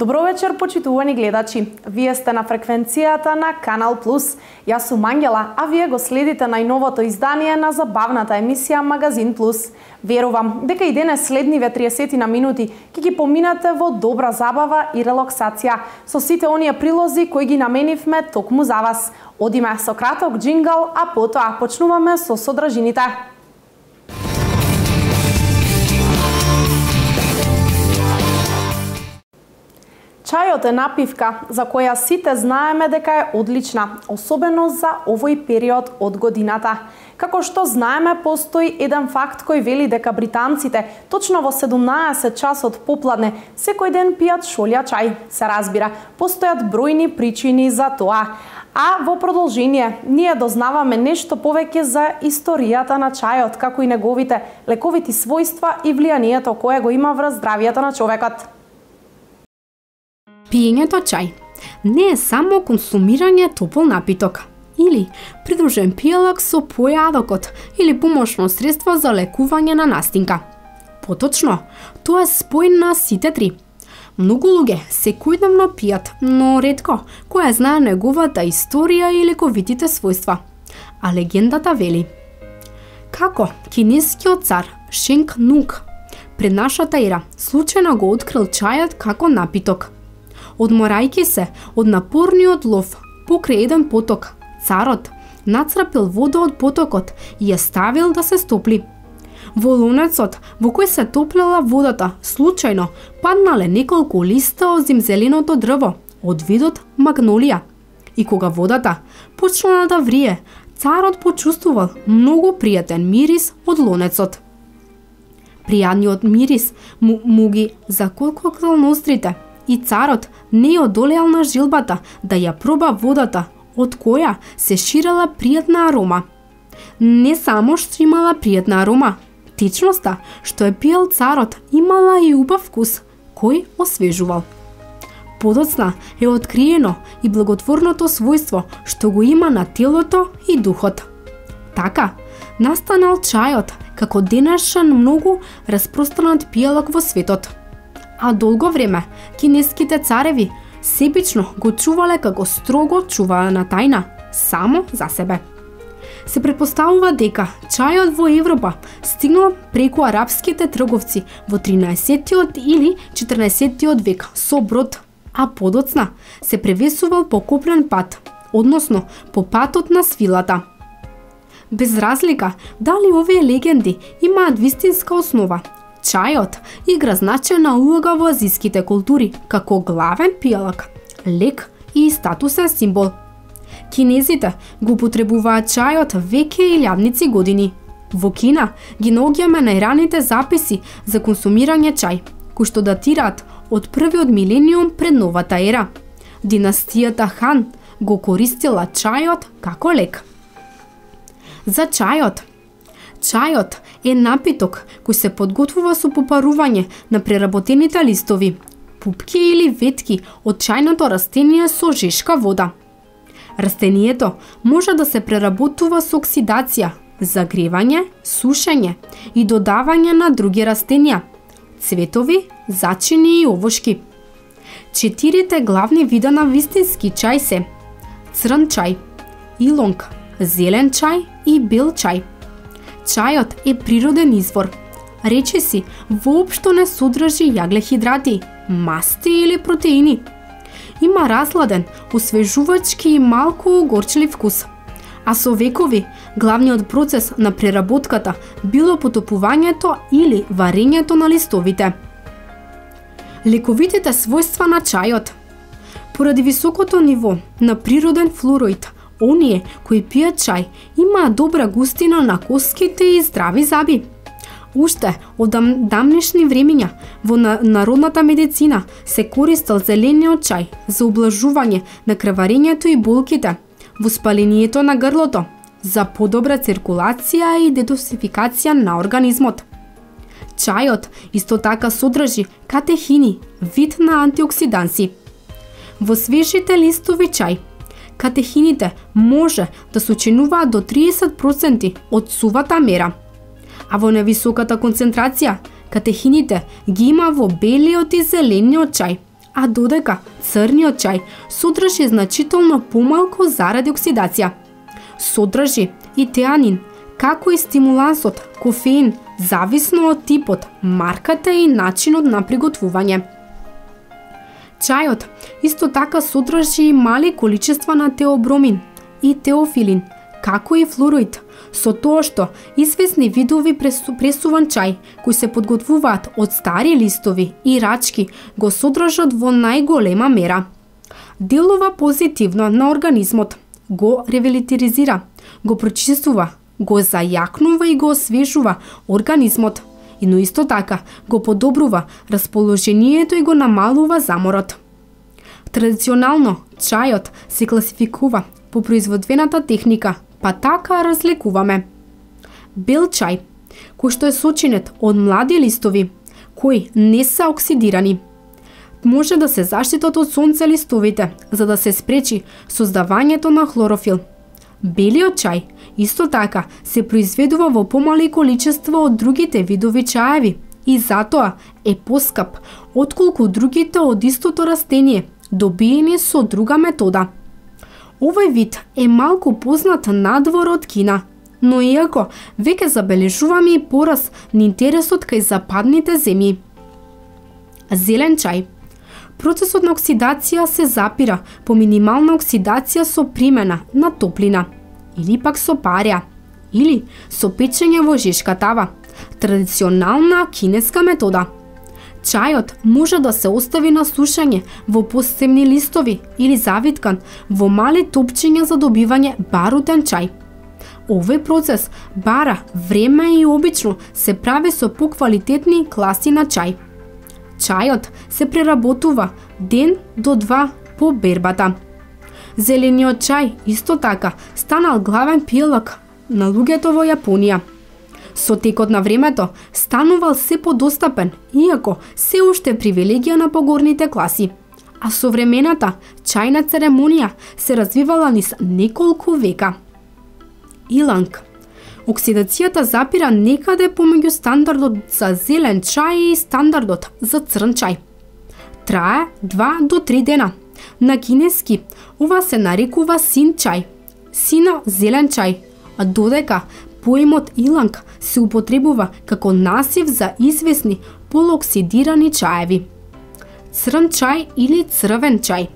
Добро вечер, почитувани гледачи. Вие сте на фреквенцијата на Канал Плюс. Јас сум Ангела, а вие го следите најновото издание на забавната емисија Магазин Плюс. Верувам дека и денес следниве 30 на минути ќе ги поминате во добра забава и релаксација со сите оние прилози кои ги наменивме токму за вас. Одиме со краток джингал, а потоа почнуваме со содржините. Чајот е напивка за која сите знаеме дека е одлична, особено за овој период од годината. Како што знаеме, постои еден факт кој вели дека британците точно во 17 часот попладне секој ден пијат шолја чај. Се разбира, постојат бројни причини за тоа. А во продолжение, ние дознаваме нешто повеќе за историјата на чајот, како и неговите лековити својства и влијанието кое го има врз здравието на човекот. Пиењето чај не е само консумирање топол напиток или придружен пијалак со појадокот или помошно средство за лекување на настинка. Поточно, тоа е спој на сите три. Многу луѓе секојдневно пијат, но ретко кој знае неговата историја и лековитите својства. А легендата вели како кинескиот цар Шенг Нунг пред нашата ера случајно го открил чајот како напиток. Одморајќи се од напорниот лов покрај еден поток, царот нацрапил вода од потокот и ја ставил да се стопли. Во лонецот во кој се топлела водата, случајно паднале неколку листа од зимзеленото дрво од видот магнолија. И кога водата почнала да врие, царот почувствувал многу пријатен мирис од лонецот. Пријатниот мирис му ги заколкокал нострите и царот не одолеал на жилбата да ја проба водата, од која се ширела пријатна арома. Не само што имала пријатна арома, течноста што е пиел царот имала и убав вкус, кој освежувал. Подоцна е откриено и благотворното својство што го има на телото и духот. Така, настанал чајот како денешен многу распространет пијалак во светот. А долго време кинеските цареви себично го чувале како строго чуваана тајна, само за себе. Се претпоставува дека чајот во Европа стигнал преку арапските трговци во 13-тиот или 14-тиот век со брод, а подоцна се превесувал по копнен пат, односно по патот на свилата. Без разлика дали овие легенди имаат вистинска основа, чајот игра значајна улога во азиските култури како главен пијалак, лек и статусен символ. Кинезите го употребуваат чајот веќе илјадници години. Во Кина ги наоѓаме најраните записи за консумирање чај, кои што датираат од првиот милениум пред новата ера. Династијата Хан го користила чајот како лек. За чајот. Чајот е напиток кој се подготвува со попарување на преработените листови, пупки или ветки од чајното растение со жешка вода. Растението може да се преработува со оксидација, загревање, сушење и додавање на други растенија, цветови, зачини и овошки. 4 главни вида на вистински чај се црн чај, илонг, зелен чај и бел чај. Чајот е природен извор. Речиси воопшто не содржи јаглехидрати, масти или протеини. Има разладен, освежувачки и малку горчлив вкус. А со векови, главниот процес на преработката било потопувањето или варењето на листовите. Лековитите својства на чајот. Поради високото ниво на природен флуороид, оние кои пијат чај имаат добра густина на коските и здрави заби. Уште од дамнешни времиња во народната медицина се користел зелениот чај за ублажување на крварењето и болките, воспалението на грлото, за подобра циркулација и детоксификација на организмот. Чајот исто така содржи катехини, вид на антиоксиданси. Во свежите листови чај, катехините може да сочинуваат до 30% од сувата мера, а во невисоката концентрација катехините ги има во белиот и зелениот чај, а додека црниот чај содржи значително помалку заради оксидација. Содржи и теанин, како и стимулансот кофеин, зависно од типот, марката и начинот на приготвување. Чајот исто така содржи мали количества на теобромин и теофилин, како и флуороид, со тоа што известни видови пресуван чај, кои се подготвуваат од стари листови и рачки, го содржат во најголема мера. Делува позитивно на организмот, го ревитализира, го прочистува, го зајакнува и го освежува организмот, но исто така го подобрува расположението и го намалува заморот. Традиционално, чајот се класификува по производствената техника, па така разликуваме. Бел чај, кој што е сочинет од млади листови, кои не се оксидирани. Може да се заштитат од сонце листовите, за да се спречи создавањето на хлорофил. Белиот чај исто така се произведува во помали количество од другите видови чаеви и затоа е поскап отколку другите од истото растение, добиени со друга метода. Овој вид е малку познат надвор од Кина, но иако веќе забележуваме и порас на интересот кај западните земји. Зелен чај. Процесот на оксидација се запира по минимална оксидација со примена на топлина, или пак со парја, или со печење во жешка тава, традиционална кинеска метода. Чајот може да се остави на сушење во посебни листови или завиткан во мали топчиња за добивање барутен чај. Овој процес бара време и обично се прави со поквалитетни класи на чај. Чајот се преработува ден до два по бербата. Зелениот чај исто така станал главен пијалак на луѓето во Јапонија. Со текот на времето станувал се подостапен, иако се уште привилегија на погорните класи, а современата чајна церемонија се развивала низ неколку века. Иланг. Оксидацијата запира некаде помеѓу стандардот за зелен чај и стандардот за црн чај. Трае 2 до 3 дена. На кинески ова се нарекува син чај, сино зелен чај, а додека поимот иланг се употребува како насив за известни полуоксидирани чаеви. Црн чај или црвен чај.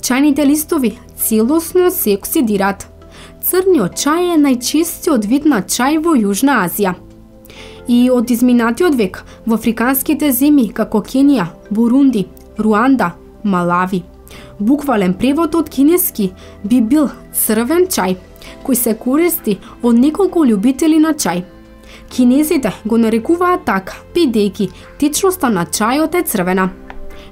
Чајните листови целосно се оксидираат. Црниот чај е најчестиот вид на чај во Јужна Азија. И од изминатиот век во африканските земји како Кенија, Бурунди, Руанда, Малави. Буквален превод од кинески би бил црвен чај, кој се користи од неколку љубители на чај. Кинезите го нарекуваат така, бидејќи течноста на чајот е црвена.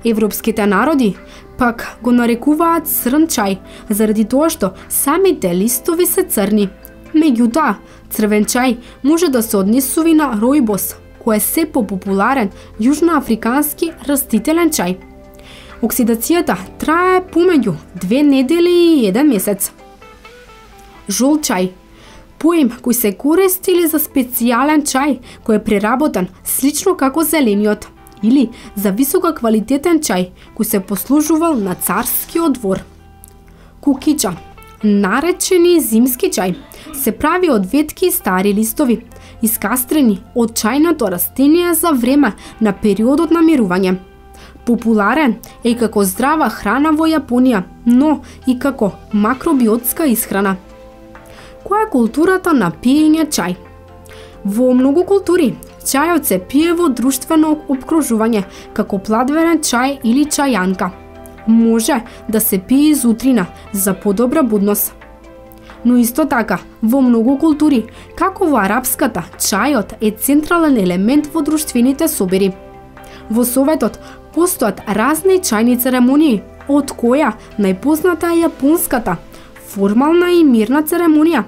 Европските народи пак го нарекуваат црн чај, заради тоа што самите листови се црни. Меѓутоа, црвен чај може да се однесува на ројбос, кој е се попопуларен јужноафрикански растителен чај. Оксидацијата трае помеѓу 2 недели и 1 месец. Жол чај. Поим кој се користи за специјален чај кој е преработен слично како зелениот, или за висококвалитетен чај кој се послужувал на царскиот двор. Кукича, наречени зимски чај, се прави од ветки и стари листови, искастрени од чајното растение за време на периодот на мирување. Популарен е и како здрава храна во Јапонија, но и како макробиотска исхрана. Која е културата на пиење чај? Во многу култури, чајот се пие во друштвено опкружување, како пладверен чај или чајанка. Може да се пие изутрина за подобра будност. Но исто така, во многу култури, како во арапската, чајот е централен елемент во друштвените собери. Во Советот постојат разни чајни церемонии, од која најпозната е јапонската, формална и мирна церемонија.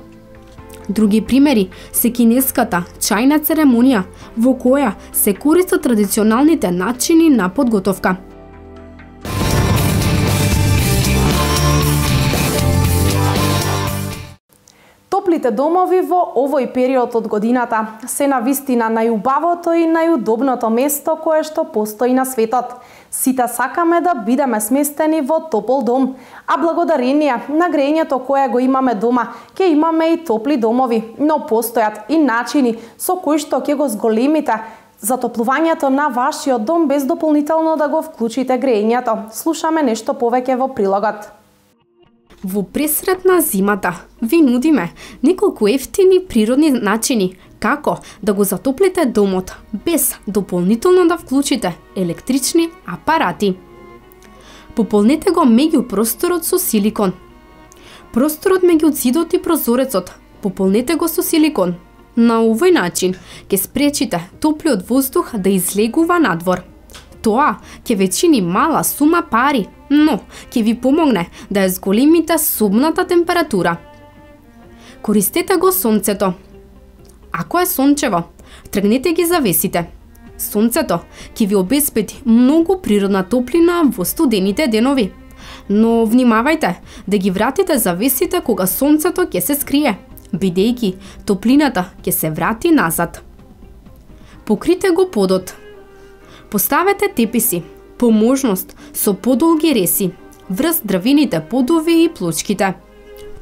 Други примери се кинеската чајна церемонија, во која се користат традиционалните начини на подготовка. Топлите домови во овој период од годината се навистина најубавото и најудобното место кое што постои на светот. Сите сакаме да бидеме сместени во топол дом, а благодарение на грејењето кое го имаме дома, ќе имаме и топли домови, но постојат и начини со кои што ќе го зголемите затоплувањето на вашиот дом без дополнително да го вклучите грејењето. Слушаме нешто повеќе во прилогот. Во пресред на зимата ви нудиме неколку ефтини природни начини како да го затоплите домот без дополнително да вклучите електрични апарати. Пополнете го меѓу просторот со силикон. Просторот меѓу зидот и прозорецот пополнете го со силикон. На овој начин ќе спречите топлиот воздух да излегува надвор. Тоа ќе ве чини мала сума пари, но ќе ви помогне да ја зголемите собната температура. Користете го сонцето. Ако е сончево, тргнете ги завесите. Сонцето ќе ви обезбеди многу природна топлина во студените денови. Но внимавајте да ги вратите завесите кога сонцето ќе се скрие, бидејќи топлината ќе се врати назад. Покрите го подот. Поставете теписи, по можност со подолги реси, врз дрвените подови и плочките.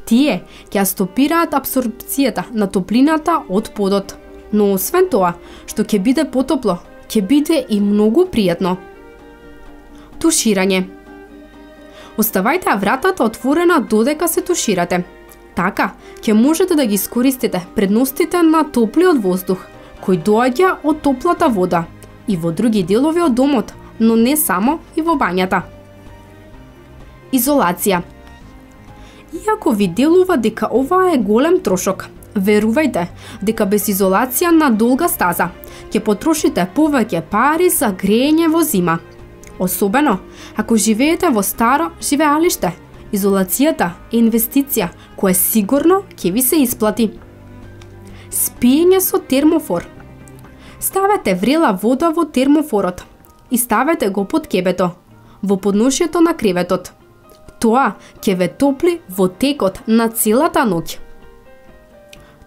Тие ќе стопираат апсорбцијата на топлината од подот, но освен тоа, што ќе биде потопло, ќе биде и многу пријатно. Туширање. Оставајте вратата отворена додека се туширате. Така ќе можете да ги искористите предностите на топлиот воздух, кој доаѓа од топлата вода и во други делови од домот, но не само и во бањата. Изолација. Иако ви делува дека ова е голем трошок, верувајте дека без изолација на долга стаза ќе потрошите повеќе пари за грејење во зима. Особено ако живеете во старо живеалиште, изолацијата е инвестиција која сигурно ќе ви се исплати. Спиење со термофор. Ставете врела вода во термофорот и ставете го под кебето, во подношјето на креветот. Тоа ќе ве топли во текот на целата ноќ.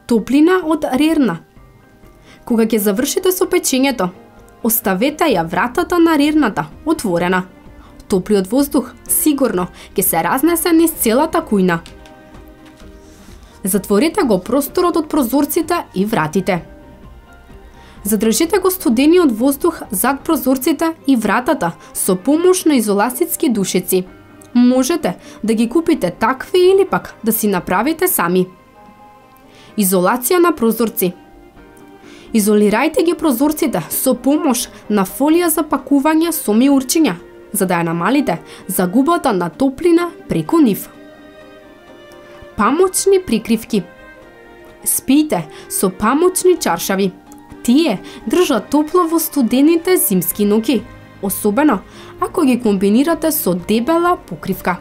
Топлина од рерна. Кога ќе завршите со печењето, оставете ја вратата на рерната отворена. Топлиот воздух сигурно ќе се разнесе низ целата кујна. Затворете го просторот од прозорците и вратите. Задржете го студениот воздух зад прозорците и вратата со помош на изолацитски душеци. Можете да ги купите такви или пак да си направите сами. Изолација на прозорци. Изолирајте ги прозорците со помош на фолија за пакување со миурчиња, за да ја намалите загубата на топлина преку нив. Памучни прикривки. Спијте со памучни чаршави. Тие држат топло во студените зимски ноќи, особено ако ги комбинирате со дебела покривка.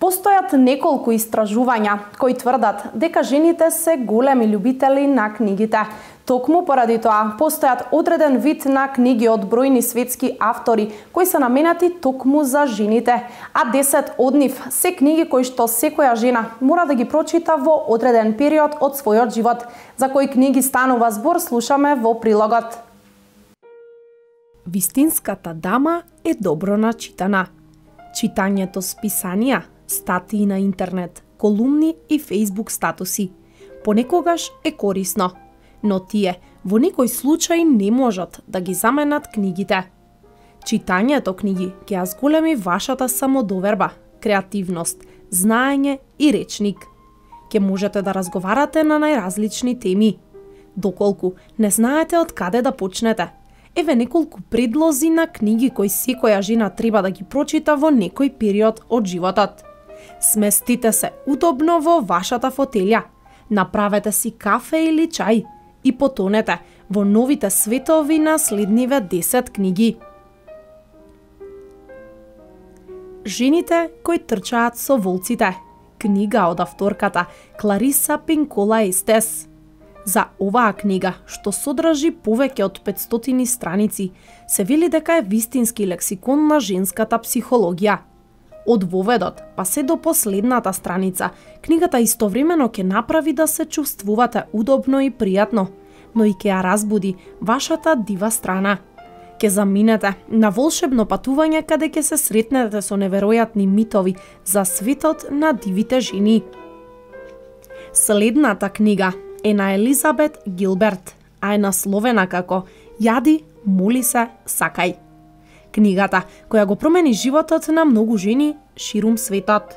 Постојат неколку истражувања кои тврдат дека жените се големи љубители на книгите. Токму поради тоа постојат одреден вид на книги од бројни светски автори кои се наменати токму за жените, а 10 од нив се книги кои што секоја жена мора да ги прочита во одреден период од својот живот. За кои книги станува збор, слушаме во прилогот. Вистинската дама е добро начитана. Читањето списанија, статии на интернет, колумни и фейсбук статуси понекогаш е корисно, но тие во некој случај не можат да ги заменат книгите. Читањето книги ќе ја зголеми вашата самодоверба, креативност, знаење и речник. Ќе можете да разговарате на најразлични теми. Доколку не знаете од каде да почнете, еве неколку предлози на книги кои секоја жена треба да ги прочита во некој период од животот. Сместите се удобно во вашата фотелја, направете си кафе или чај и потонете во новите светови на следниве 10 книги. Жените кои трчаат со волците. Книга од авторката Клариса Пинкола Естес. За оваа книга, што содржи повеќе од 500 страници, се вели дека е вистински лексикон на женската психологија. Од воведот, па се до последната страница, книгата истовремено ќе направи да се чувствувате удобно и пријатно, но и ќе ја разбуди вашата дива страна. Ќе заминете на волшебно патување каде ќе се сретнете со неверојатни митови за светот на дивите жени. Следната книга е на Елизабет Гилберт, а е насловена како Јади, моли се, сакај. Книгата која го промени животот на многу жени ширум светот.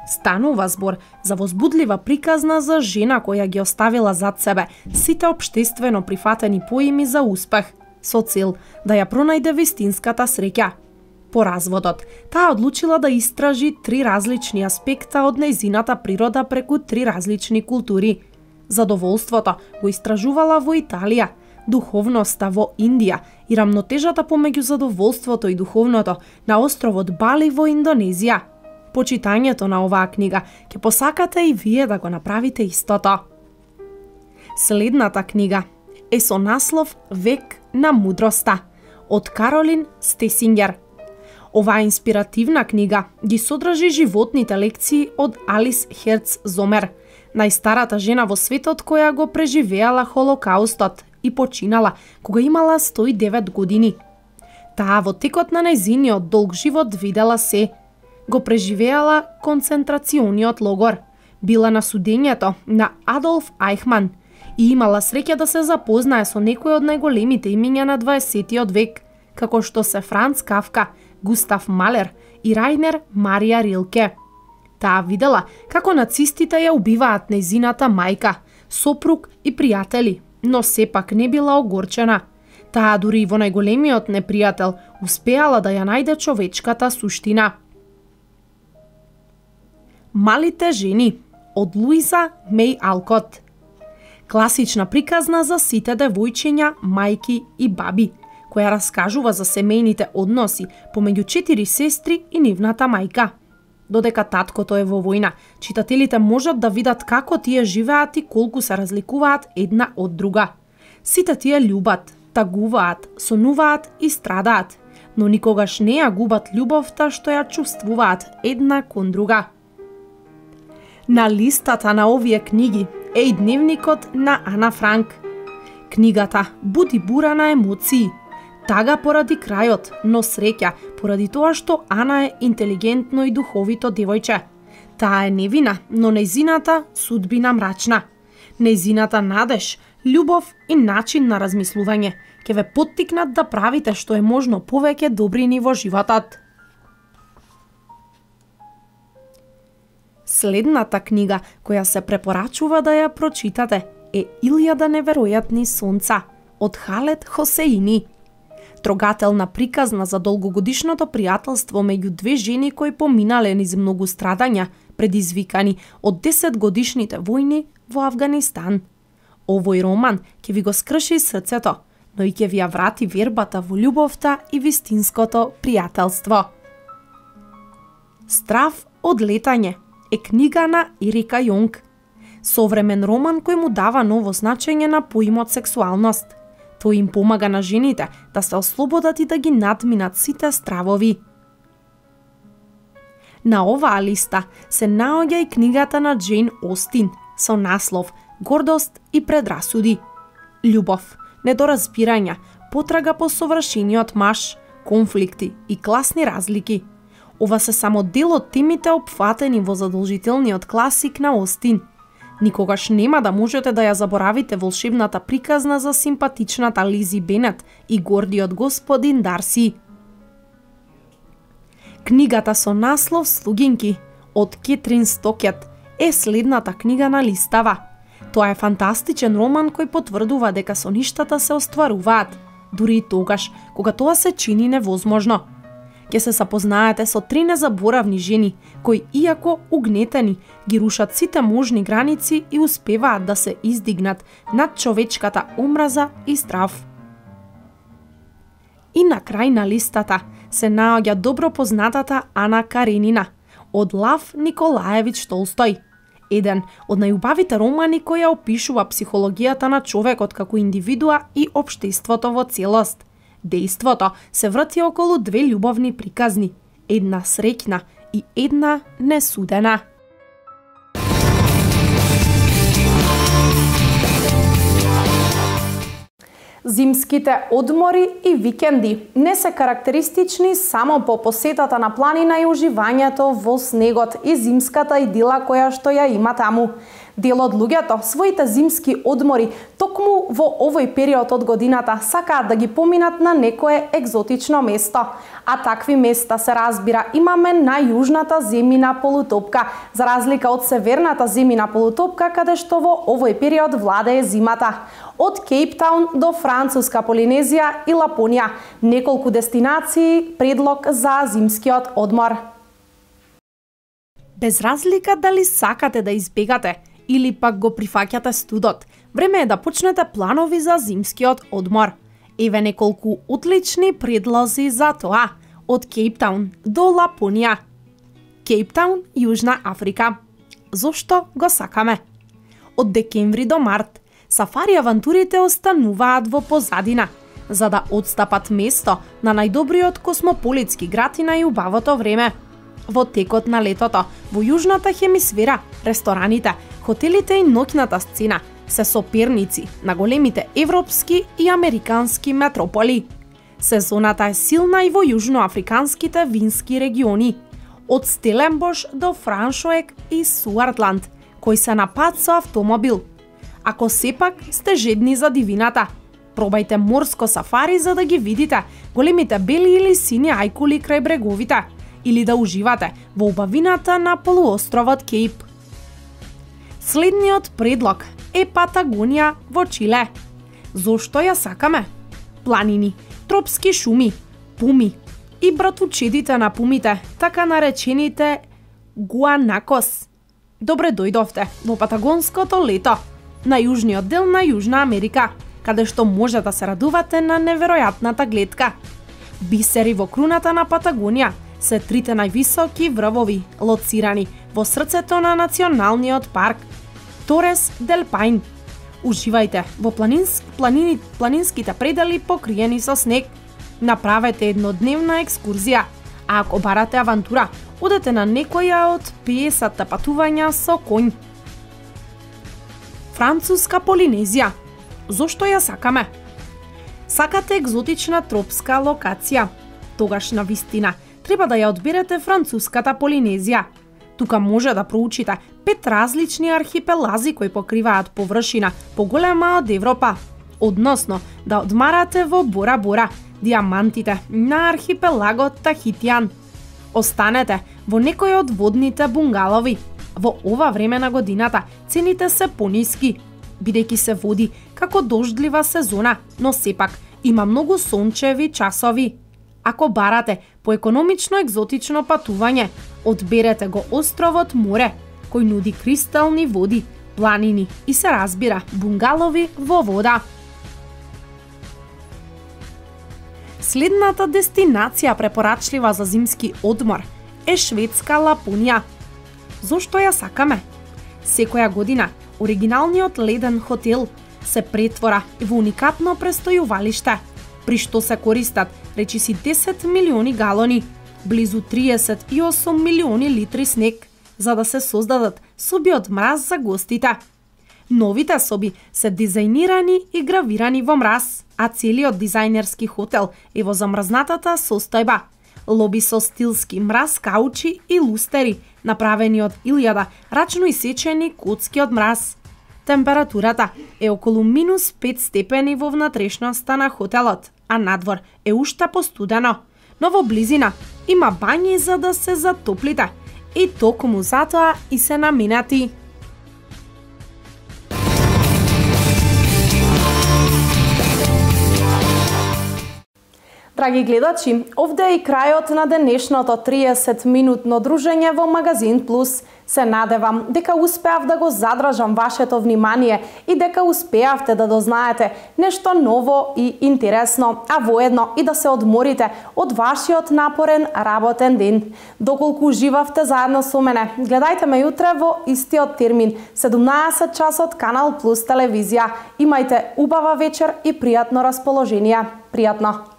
Станува збор за возбудлива приказна за жена која ги оставила зад себе сите општествено прифатени поими за успех, со цел да ја пронајде вистинската среќа. По разводот, таа одлучила да истражи 3 различни аспекта од нејзината природа преку 3 различни култури. Задоволството го истражувала во Италија, духовноста во Индија и рамнотежата помеѓу задоволството и духовното на островот Бали во Индонезија. По читањето на оваа книга ќе посакате и вие да го направите истото. Следната книга е со наслов Век на мудроста од Каролин Стесингер. Оваа инспиративна книга ги содржи животните лекции од Алис Херц Зомер, најстарата жена во светот која го преживеала Холокаустот и починала кога имала 109 години. Таа во текот на нејзиниот долг живот видела се. Го преживеала концентрацијниот логор, била на судењето на Адолф Ајхман и имала среќа да се запознае со некои од најголемите имиња на 20 век, како што се Франц Кафка, Густав Малер и Рајнер Марија Рилке. Таа видела како нацистите ја убиваат нејзината мајка, сопруг и пријатели, но сепак не била огорчена. Таа дури и во најголемиот непријател успеала да ја најде човечката суштина. Малите жени од Луиза Меј Алкот. Класична приказна за сите девојчиња, мајки и баби, која раскажува за семејните односи помеѓу 4 сестри и нивната мајка. Додека таткото е во војна, читателите можат да видат како тие живеат и колку се разликуваат една од друга. Сите тие љубат, тагуваат, сонуваат и страдаат, но никогаш не ја губат љубовта што ја чувствуваат една кон друга. На листата на овие книги е и дневникот на Ана Франк. Книгата буди бура на емоции. Тага поради крајот, но среќа поради тоа што Ана е интелигентно и духовито девојче. Таа е невина, но нејзината судбина мрачна. Нејзината надеж, љубов и начин на размислување ќе ве поттикнат да правите што е можно повеќе добрини во животот. Следната книга која се препорачува да ја прочитате е Илјада неверојатни сонца од Халед Хосеини. Трогателна приказна за долгогодишното пријателство меѓу две жени кои поминале низ многу страдања, предизвикани од 10-годишните војни во Авганистан. Овој роман ќе ви го скрши срцето, но и ќе ви ја врати вербата во љубовта и вистинското пријателство. Страв од летање е книга на Ерика Јонг. Современ роман кој му дава ново значење на поимот сексуалност. Тој им помага на жените да се ослободат и да ги надминат сите стравови. На оваа листа се наоѓа и книгата на Џејн Остин со наслов Гордост и предрасуди. Љубов, недоразбирања, потрага по совршениот маж, конфликти и класни разлики. Ова се само дел од темите опфатени во задолжителниот класик на Остин. Никогаш нема да можете да ја заборавите волшебната приказна за симпатичната Лизи Бенет и гордиот господин Дарси. Книгата со наслов Слугинки од Кетрин Стокет е следната книга на листава. Тоа е фантастичен роман кој потврдува дека соништата се остваруваат, дури и тогаш кога тоа се чини невозможно. Ќе се запознаете со 3 незаборавни жени кои, иако угнетени, ги рушат сите можни граници и успеваат да се издигнат над човечката омраза и страв. И на крај на листата се наоѓа добро познатата Ана Каренина од Лав Николаевич Толстој, еден од најубавите романи кои ја опишува психологијата на човекот како индивидуа и општеството во целост. Дејството се врти околу 2 љубовни приказни, една среќна и една несудена. Зимските одмори и викенди не се карактеристични само по посетата на планина и уживањето во снегот и зимската идила која што ја има таму. Дел од луѓето своите зимски одмори токму во овој период од годината сакаат да ги поминат на некое екзотично место, а такви места се разбира имаме на јужната земјина полутопка, за разлика од северната земјина полутопка каде што во овој период владее зимата. Од Кейптаун до Француска Полинезија и Лапонија, неколку дестинации предлог за зимскиот одмор. Без разлика дали сакате да избегате или пак го прифаќате студот, време е да почнете планови за зимскиот одмор. Еве неколку отлични предлози за тоа. Од Кейптаун до Лапонија. Кейптаун, Јужна Африка. Зошто го сакаме? Од декември до март сафари авантурите остануваат во позадина, за да отстапат место на најдобриот космополитски град и најубавото време. Во текот на летото, во јужната хемисфера, рестораните, хотелите и ноќната сцена се соперници на големите европски и американски метрополи. Сезоната е силна и во јужноафриканските вински региони, од Стеленбош до Франшоек и Суартланд, кои се на пат со автомобил. Ако сепак сте жедни за дивината, пробајте морско сафари за да ги видите големите бели или сини ајкули крај бреговите, или да уживате во убавината на полуостровот Кейп. Следниот предлог е Патагонија во Чиле. Зошто ја сакаме? Планини, тропски шуми, пуми и братучедите на пумите, така наречените гуанакос. Добре дојдовте во патагонското лето, на јужниот дел на Јужна Америка, каде што може да се радувате на неверојатната гледка. Бисери во круната на Патагонија се трите највисоки врвови, лоцирани во срцето на националниот парк Торес дел Пайн. Уживајте во планинските предели покриени со снег. Направете еднодневна екскурзија, а ако барате авантура, одете на некоја од 50 патувања со конј. Француска Полинезија. Зошто ја сакаме? Сакате екзотична тропска локација? Тогаш на вистина треба да ја одберете Француската Полинезија. Тука може да проучите 5 различни архипелази кои покриваат површина поголема од Европа, односно да одмарате во Бора Бора, диамантите на архипелагот Тахитијан. Останете во некој од водните бунгалови. Во ова време на годината цените се пониски, бидејќи се води како дождлива сезона, но сепак има многу сончеви часови. Ако барате по економично екзотично патување, одберете го островот Море, кој нуди кристални води, планини и се разбира бунгалови во вода. Следната дестинација препорачлива за зимски одмор е шведска Лапонија. Зошто ја сакаме? Секоја година оригиналниот леден хотел се претвора во уникатно престојувалиште, при што се користат речиси 10 милиони галони, близу 38 милиони литри снег, за да се создадат соби од мраз за гостите. Новите соби се дизајнирани и гравирани во мраз, а целиот дизајнерски хотел е во замрзнатата состојба. Лоби со стилски мраз каучи и лустери, направени од илјада рачно исечени коцки од мраз. Температурата е околу минус 5 степени во внатрешноста на хотелот, а надвор е уште постудено. Но во близина има бањи за да се затоплите и токму затоа и се наменати. Драги гледачи, овде е и крајот на денешното 30-минутно дружење во Магазин Плюс. Се надевам дека успеав да го задржам вашето внимание и дека успеавте да дознаете нешто ново и интересно, а воедно и да се одморите од вашиот напорен работен ден. Доколку уживавте заедно со мене, гледајте ме јутре во истиот термин, 17 часот, Канал Плюс телевизија. Имајте убава вечер и пријатно расположение. Пријатно!